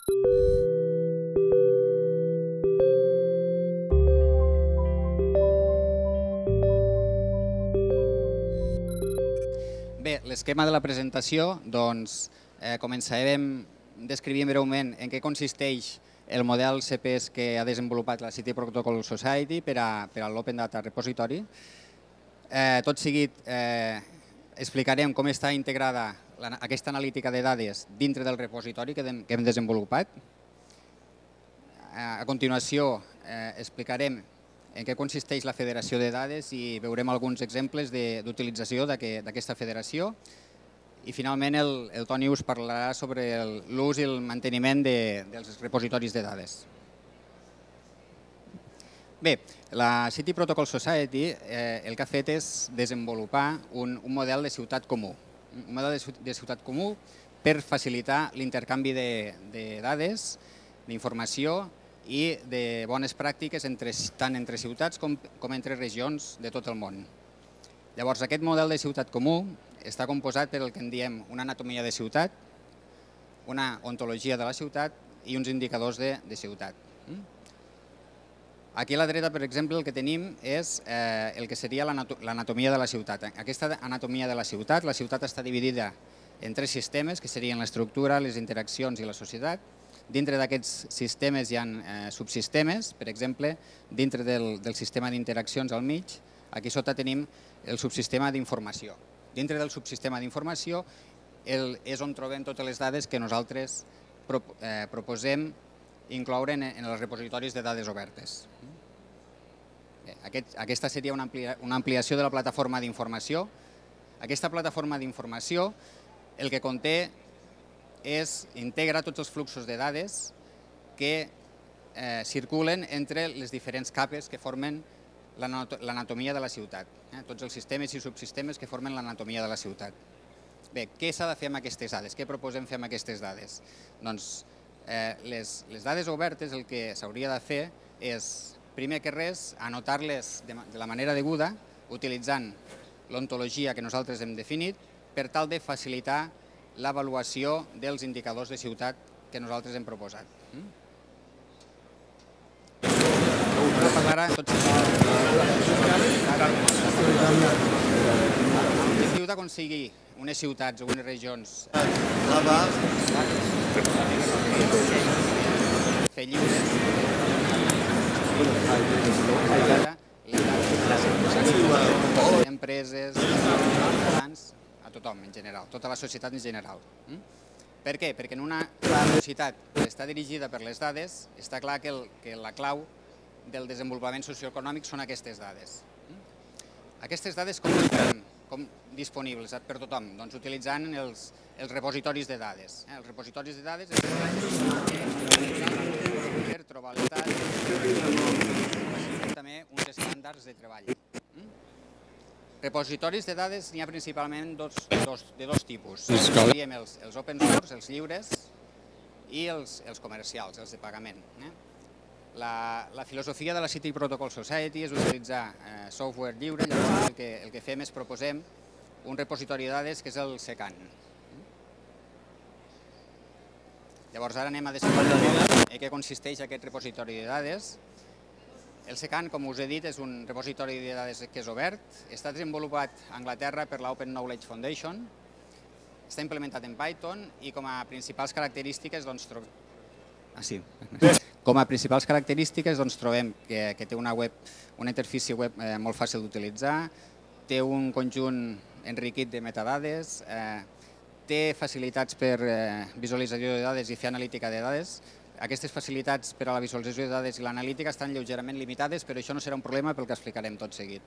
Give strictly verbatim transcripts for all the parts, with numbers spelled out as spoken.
Bé, l'esquema de la presentació, doncs, eh, començarem descrivint breument en què consisteix el model C P S que ha desenvolupat la City Protocol Society per a, per a l'Open Data Repository. Eh, tot seguit eh, explicarem com està integrada la, aquesta analítica de dades dintre del repositori que, de, que hem desenvolupat. A continuació eh, explicarem en què consisteix la federació de dades i veurem alguns exemples d'utilització d'aquesta federació. I finalment el, el Toni us parlarà sobre l'ús i el manteniment de, dels repositoris de dades. Bé, la City Protocol Society eh, el que ha fet és desenvolupar un, un model de ciutat comú. Un model de ciutat comú per facilitar l'intercanvi de, de dades, d'informació i de bones pràctiques entre, tant entre ciutats com, com entre regions de tot el món. Llavors, aquest model de ciutat comú està composat per el que en diem una anatomia de ciutat, una ontologia de la ciutat i uns indicadors de, de ciutat. Aquí a la dreta, per exemple, el que tenim és eh, el que seria l'anatomia de la ciutat. Aquesta anatomia de la ciutat, la ciutat està dividida en tres sistemes, que serien l'estructura, les interaccions i la societat. Dintre d'aquests sistemes hi ha eh, subsistemes, per exemple, dintre del, del sistema d'interaccions al mig, aquí sota tenim el subsistema d'informació. Dintre del subsistema d'informació és on trobem totes les dades que nosaltres pro, eh, proposem incloure en, en els repositoris de dades obertes. Bé, aquest, aquesta seria una, amplia, una ampliació de la plataforma d'informació. Aquesta plataforma d'informació el que conté és integra tots els fluxos de dades que eh, circulen entre les diferents capes que formen l'anatomia de la ciutat. Eh? Tots els sistemes i subsistemes que formen l'anatomia de la ciutat. Bé, què s'ha de fer amb aquestes dades? Què proposem fer amb aquestes dades? Doncs eh, les, les dades obertes el que s'hauria de fer és, primer que res, anotar-les de, de la manera deguda, utilitzant l'ontologia que nosaltres hem definit, per tal de facilitar l'avaluació dels indicadors de ciutat que nosaltres hem proposat. Ara parlarà tot l'objectiu d'aconseguir unes ciutats o unes regions fer lliures les empreses, a tothom en general, tota la societat en general. Per què? Perquè en una societat que està dirigida per les dades està clar que, el, que la clau del desenvolupament socioeconòmic són aquestes dades. Aquestes dades com estan com disponibles per tothom? Doncs utilitzant els, els repositoris de dades. Els repositoris de dades per trobar les dades i també uns estàndards de treball. Repositoris de dades n'hi ha principalment dos, dos, de dos tipus. Diem els, els open source, els lliures, i els, els comercials, els de pagament. Eh? La, la filosofia de la City Protocol Society és utilitzar eh, software lliure, llavors el que, el que fem és proposem un repositori de dades que és el SECAN. Llavors ara anem a descobrir en què consisteix aquest repositori de dades. El SECAN, com us he dit, és un repositori de dades que és obert, està desenvolupat a Anglaterra per l'Open Knowledge Foundation, està implementat en Python i com a principals característiques doncs, trobem... Ah, sí. Com a principals característiques doncs, trobem que, que té una, web, una interfície web eh, molt fàcil d'utilitzar, té un conjunt enriquit de metadades, eh, té facilitats per eh, visualització de dades i fer analítica de dades. Aquestes facilitats per a la visualització de dades i l'analítica estan lleugerament limitades, però això no serà un problema pel que explicarem tot seguit.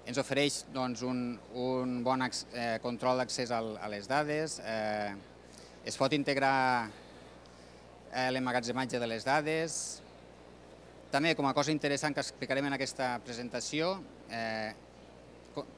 Ens ofereix doncs, un, un bon eh, control d'accés a les dades, eh, es pot integrar eh, l'emmagatzematge de les dades. També, com a cosa interessant que explicarem en aquesta presentació, eh,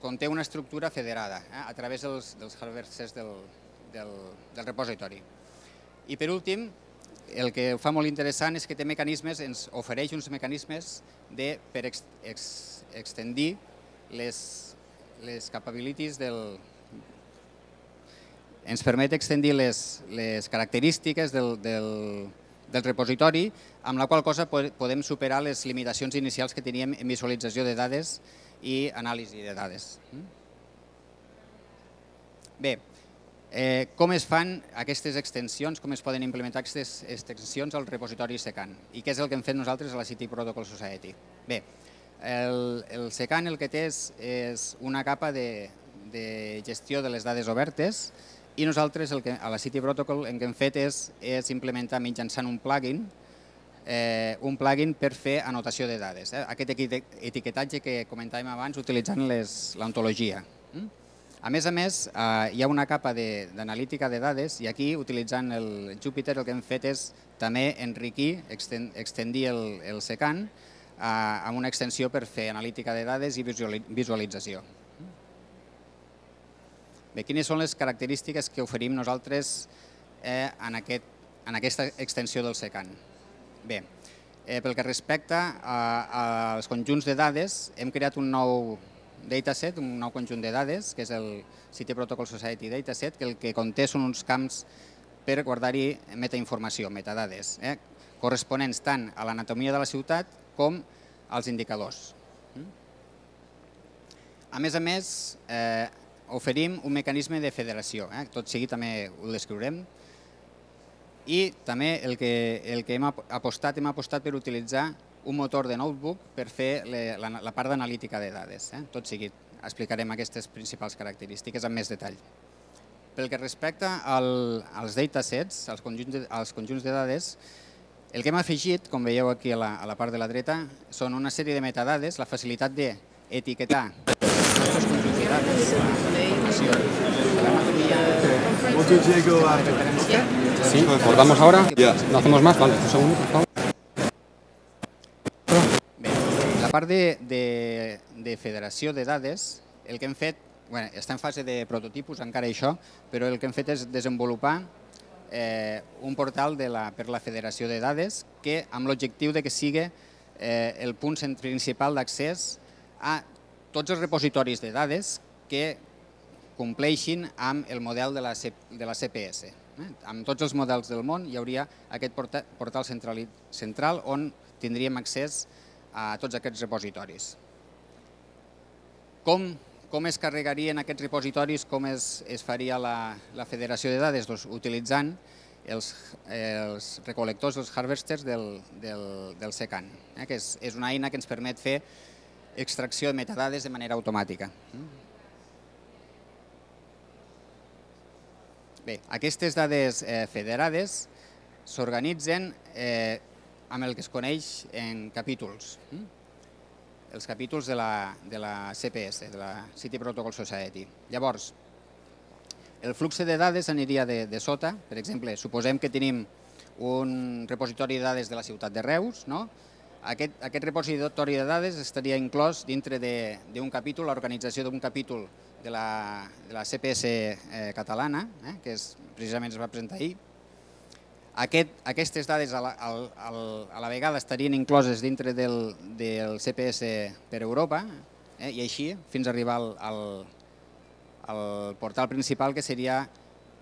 conté una estructura federada eh, a través dels, dels hardwares del, del, del repositori. I per últim, el que ho fa molt interessant és que té mecanismes, ens ofereix uns mecanismes de, per ex, ex, extendir les, les capabilities del, ens permet extendir les, les característiques del, del, del repositori, amb la qual cosa podem superar les limitacions inicials que teníem en visualització de dades i anàlisi de dades. Bé, eh, com es fan aquestes extensions, com es poden implementar aquestes extensions al repositori SECAN i què és el que hem fet nosaltres a la City Protocol Society. Bé, el, el SECAN el que té és, és una capa de, de gestió de les dades obertes i nosaltres el que, a la City Protocol el que hem fet és, és implementar mitjançant un plugin eh, un plugin per fer anotació de dades. Eh? Aquest etiquetatge que comentàvem abans utilitzant l'ontologia. A més a més, eh, hi ha una capa d'analítica de, de dades i aquí, utilitzant el Jupyter, el que hem fet és també enriquir, extendir el, el SECAN eh, amb una extensió per fer analítica de dades i visualització. Bé, quines són les característiques que oferim nosaltres eh, en, aquest, en aquesta extensió del SECAN? Bé, eh, pel que respecta a, als conjunts de dades, hem creat un nou dataset, un nou conjunt de dades, que és el City Protocol Society Dataset, que el que conté són uns camps per guardar-hi metainformació, metadades, eh, corresponents tant a l'anatomia de la ciutat com als indicadors. A més a més, eh, oferim un mecanisme de federació, eh? tot sigui també ho descriurem, i també el que, el que hem apostat, hem apostat per utilitzar un motor de notebook per fer le, la, la part d'analítica de dades. Eh? Tot sigui, explicarem aquestes principals característiques amb més detall. Pel que respecta al, als datasets, als conjunts, de, als conjunts de dades, el que hem afegit, com veieu aquí a la, a la part de la dreta, són una sèrie de metadades, la facilitat d'etiquetar els nostres conjunts de dades, la informació, l'anatomia... Sí, cortamos ahora. No hacemos más, vale, un segundo, por favor. Bé, la part de, de, de federació de dades, el que hem fet, bueno, està en fase de prototipus encara això, però el que hem fet és desenvolupar eh, un portal de la, per la federació de dades que amb l'objectiu de que sigui eh, el punt principal d'accés a tots els repositoris de dades que compleixin amb el model de la, C, de la C P S. Eh? Amb tots els models del món hi hauria aquest porta, portal central, central on tindríem accés a tots aquests repositoris. Com, com es carregarien aquests repositoris, com es, es faria la, la federació de dades? Doncs utilitzant els, els recolectors, els harvesters del, del, del SECAN, eh? que és, és una eina que ens permet fer extracció de metadades de manera automàtica. Bé, aquestes dades eh, federades s'organitzen eh, amb el que es coneix en capítols. Els capítols de la, de la C P S, de la City Protocol Society. Llavors, el flux de dades aniria de, de sota. Per exemple, suposem que tenim un repositori de dades de la ciutat de Reus, no? Aquest, aquest repositori de dades estaria inclòs dintre d'un capítol, l'organització d'un capítol de la, de la C P S eh, catalana, eh, que és, precisament es va presentar ahir. Aquest, aquestes dades a la, a, a la vegada estarien incloses dintre del, del C P S per Europa eh, i així fins a arribar al, al, al portal principal que seria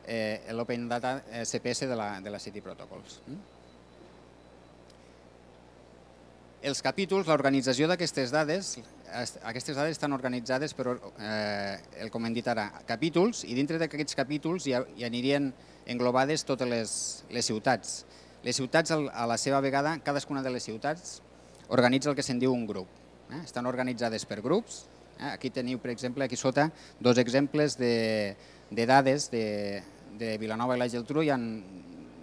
eh, l'Open Data C P S de la, de la City Protocols. Els capítols, l'organització d'aquestes dades, aquestes dades estan organitzades per, eh, el com hem dit ara, capítols, i dintre d'aquests capítols hi, hi anirien englobades totes les, les ciutats. Les ciutats, a la seva vegada, cadascuna de les ciutats organitza el que se'n diu un grup. Eh? Estan organitzades per grups. Eh? Aquí teniu, per exemple, aquí sota, dos exemples de, de dades de, de Vilanova i la Geltrú. Hi ha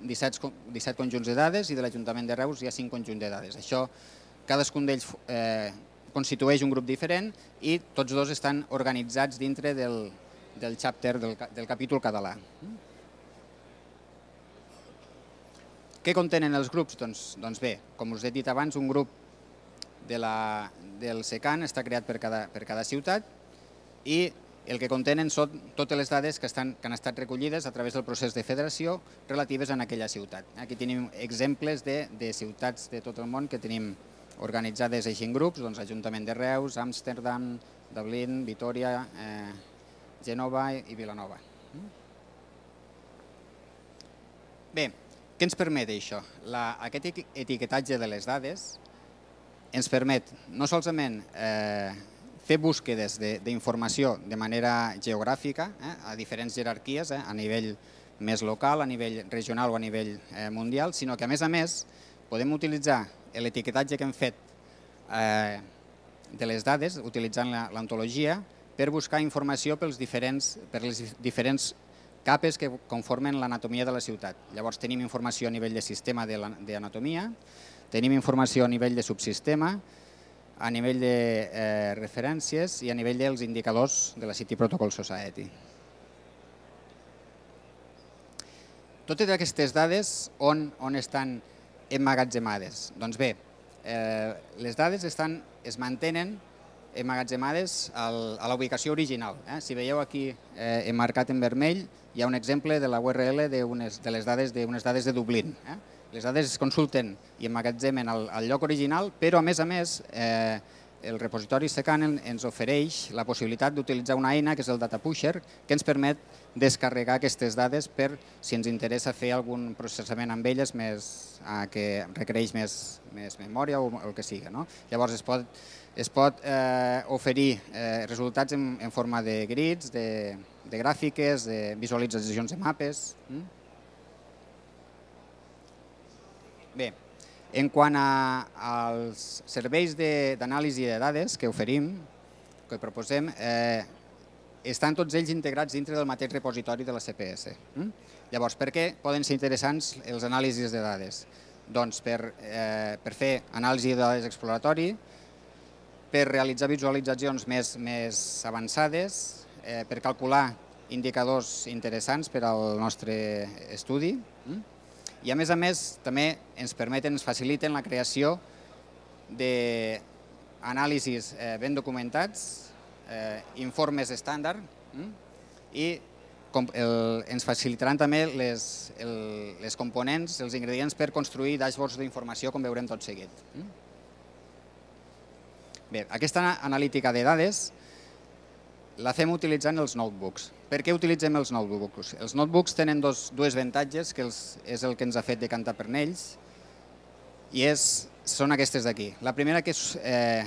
disset, disset conjunts de dades i de l'Ajuntament de Reus hi ha cinc conjunts de dades. Això, cadascun d'ells eh, constitueix un grup diferent i tots dos estan organitzats dintre del, del chapter, del, del capítol català. Què contenen els grups? Doncs, doncs bé, com us he dit abans, un grup de la, del SECAN està creat per cada, per cada ciutat i el que contenen són totes les dades que, estan, que han estat recollides a través del procés de federació relatives a aquella ciutat. Aquí tenim exemples de, de ciutats de tot el món que tenim organitzades així en grups, doncs Ajuntament de Reus, Amsterdam, Dublín, Vitòria, eh, Gènova i Vilanova. Bé, què ens permet això? La, aquest etiquetatge de les dades ens permet no solament eh, fer búsquedes d'informació de, de manera geogràfica, eh, a diferents jerarquies, eh, a nivell més local, a nivell regional o a nivell eh, mundial, sinó que a més a més podem utilitzar l'etiquetatge que hem fet eh, de les dades, utilitzant l'ontologia, per buscar informació pels diferents, per les diferents capes que conformen l'anatomia de la ciutat. Llavors tenim informació a nivell de sistema d'anatomia, tenim informació a nivell de subsistema, a nivell de eh, referències i a nivell dels indicadors de la City Protocol Society. Totes aquestes dades on, on estan emmagatzemades? Doncs bé, eh, les dades estan, es mantenen emmagatzemades al, a la ubicació original. Eh? Si veieu aquí eh, emmarcat en vermell, hi ha un exemple de la U R L de, unes, de les dades de, unes dades de Dublín. Eh? Les dades es consulten i emmagatzemen al, al lloc original, però a més a més eh, el repositori Secanen ens ofereix la possibilitat d'utilitzar una eina que és el Data Pusher, que ens permet descarregar aquestes dades per si ens interessa fer algun processament amb elles més, eh, que requereix més, més memòria o el que sigui. No? Llavors es pot, es pot eh, oferir eh, resultats en, en forma de grids, de, de gràfiques, de visualitzacions de mapes. Mm? Bé, en quant a, als serveis d'anàlisi de, de dades que oferim, que proposem, eh, estan tots ells integrats dintre del mateix repositori de la C P S. Mm? Llavors, per què poden ser interessants els anàlisis de dades? Doncs per, eh, per fer anàlisi de dades exploratori, per realitzar visualitzacions més, més avançades, eh, per calcular indicadors interessants per al nostre estudi, mm? I a més a més també ens permeten, ens faciliten la creació d'anàlisis eh, ben documentats, eh, informes estàndard mm? i com, el, ens facilitaran també les, el, les components, els ingredients per construir dashboards d'informació com veurem tot seguit. Mm? Bé, aquesta analítica de dades la fem utilitzant els notebooks. Per què utilitzem els notebooks? Els notebooks tenen dos, dues avantatges, que els, és el que ens ha fet decantar per ells, i és, són aquestes d'aquí. La primera que és, eh,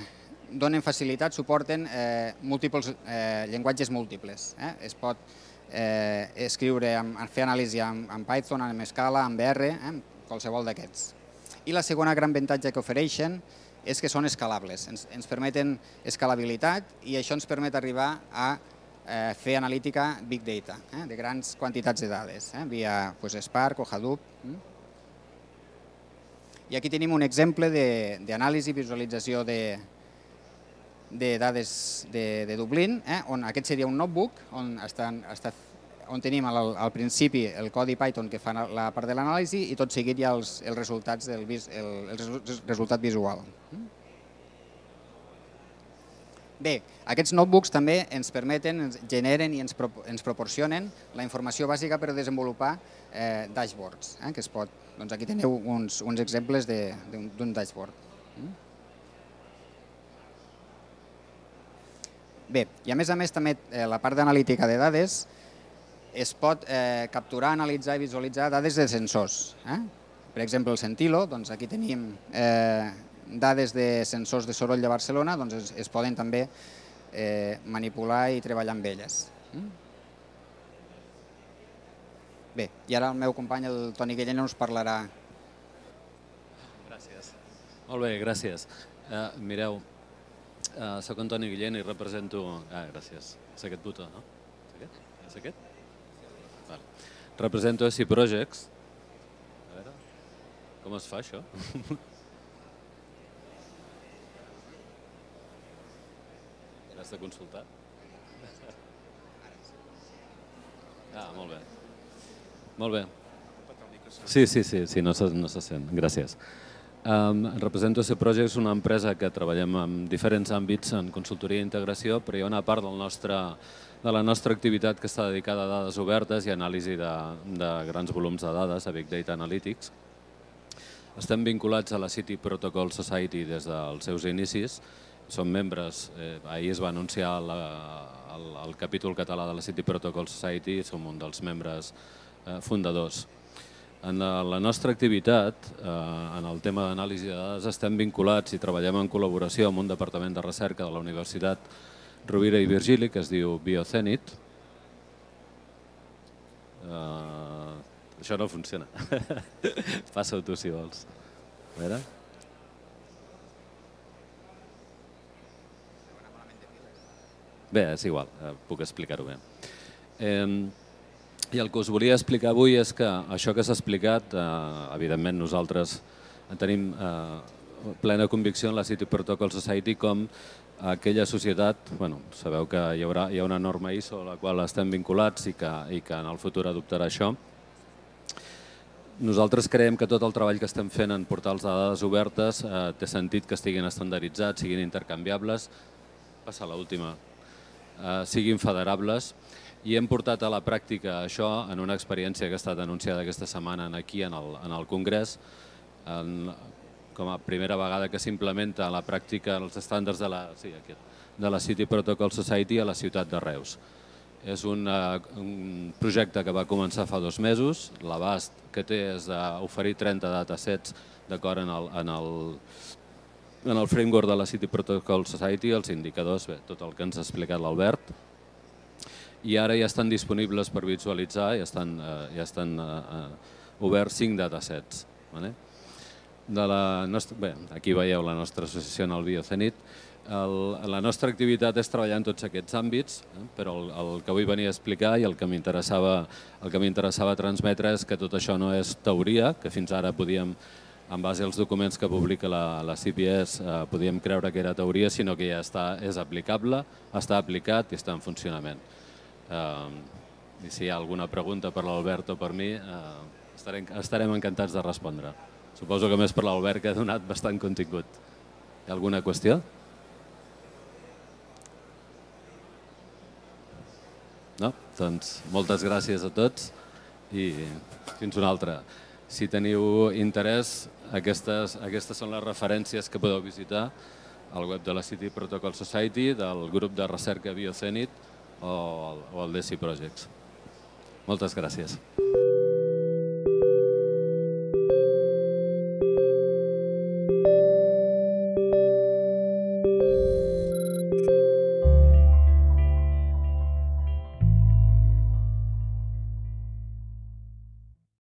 donen facilitat, suporten eh, múltiples, eh, llenguatges múltiples. Eh? Es pot eh, escriure, amb, fer anàlisi amb, amb Python, amb Scala, amb R, eh? qualsevol d'aquests. I la segona gran avantatge que ofereixen és que són escalables, ens, ens permeten escalabilitat i això ens permet arribar a eh, fer analítica Big Data, eh, de grans quantitats de dades, eh, via pues, Spark o Hadoop. Mm? I aquí tenim un exemple d'anàlisi i visualització de, de dades de, de Dublín, eh, on aquest seria un notebook, on, estan, està, on tenim al, al principi el codi Python que fa la part de l'anàlisi i tot seguit hi ha els, els resultats del el, el resultat visual. Bé, aquests notebooks també ens permeten, ens generen i ens, pro, ens proporcionen la informació bàsica per desenvolupar eh, dashboards, eh, que es pot, doncs aquí teniu uns, uns exemples d'un dashboard. Bé, i a més a més també eh, la part d'analítica de dades es pot eh, capturar, analitzar i visualitzar dades de sensors. Eh? Per exemple, el Sentilo, doncs aquí tenim eh, dades de sensors de soroll de Barcelona, doncs es, es poden també eh, manipular i treballar amb elles. Mm? Bé, i ara el meu company, el Toni Guillén, us parlarà. Gràcies. Molt bé, gràcies. Uh, mireu, uh, soc en Toni Guillén i represento... Ah, gràcies. És aquest botó, no? És aquest? És aquest? Vale. Represento S I Projects. A veure, com es fa això? Has de consultar? Ah, molt bé. Molt bé. Sí, sí, sí, sí no, se, no se sent. Gràcies. Um, represento S I Projects, una empresa que treballem en diferents àmbits en consultoria i integració, però hi ha una part del nostre, de la nostra activitat que està dedicada a dades obertes i anàlisi de, de grans volums de dades, a Big Data Analytics. Estem vinculats a la City Protocol Society des dels seus inicis. Som membres, eh, ahir es va anunciar la, el, el capítol català de la City Protocol Society i som un dels membres eh, fundadors. En la nostra activitat, en el tema d'anàlisi de dades, estem vinculats i treballem en col·laboració amb un departament de recerca de la Universitat Rovira i Virgili, que es diu Biocenit. Això no funciona. Passa-ho tu, si vols. A veure... Bé, és igual, puc explicar-ho bé. I el que us volia explicar avui és que això que s'ha explicat, evidentment nosaltres tenim plena convicció en la City Protocol Society com aquella societat, bueno, sabeu que hi haurà hi ha una norma I S O a la qual estem vinculats i que en el futur adoptarà això. Nosaltres creiem que tot el treball que estem fent en portals de dades obertes té sentit que estiguin estandarditzats, siguin intercanviables, passa l'última, siguin federables, i hem portat a la pràctica això en una experiència que ha estat anunciada aquesta setmana aquí en el Congrés, com a primera vegada que s'implementa a la pràctica els estàndards de la City Protocol Society a la ciutat de Reus. És un projecte que va començar fa dos mesos, l'abast que té és d'oferir trenta datasets d'acord en el framework de la City Protocol Society, els indicadors, tot el que ens ha explicat l'Albert, i ara ja estan disponibles per visualitzar, ja estan oberts cinc datasets. Bé, aquí veieu la nostra associació en el Biocenit. La nostra activitat és treballar en tots aquests àmbits, però el que vull venir a explicar i el que m'interessava transmetre és que tot això no és teoria, que fins ara podíem, en base als documents que publica la C P S, podíem creure que era teoria, sinó que ja és aplicable, està aplicat i està en funcionament. I si hi ha alguna pregunta per l'Albert o per mi, estarem encantats de respondre. Suposo que més per l'Albert, que ha donat bastant contingut. Hi ha alguna qüestió? No? Doncs moltes gràcies a tots i fins una altra. Si teniu interès, aquestes són les referències que podeu visitar al web de la City Protocol Society, del grup de recerca Biocenit o el D E S I Projects. Moltes gràcies.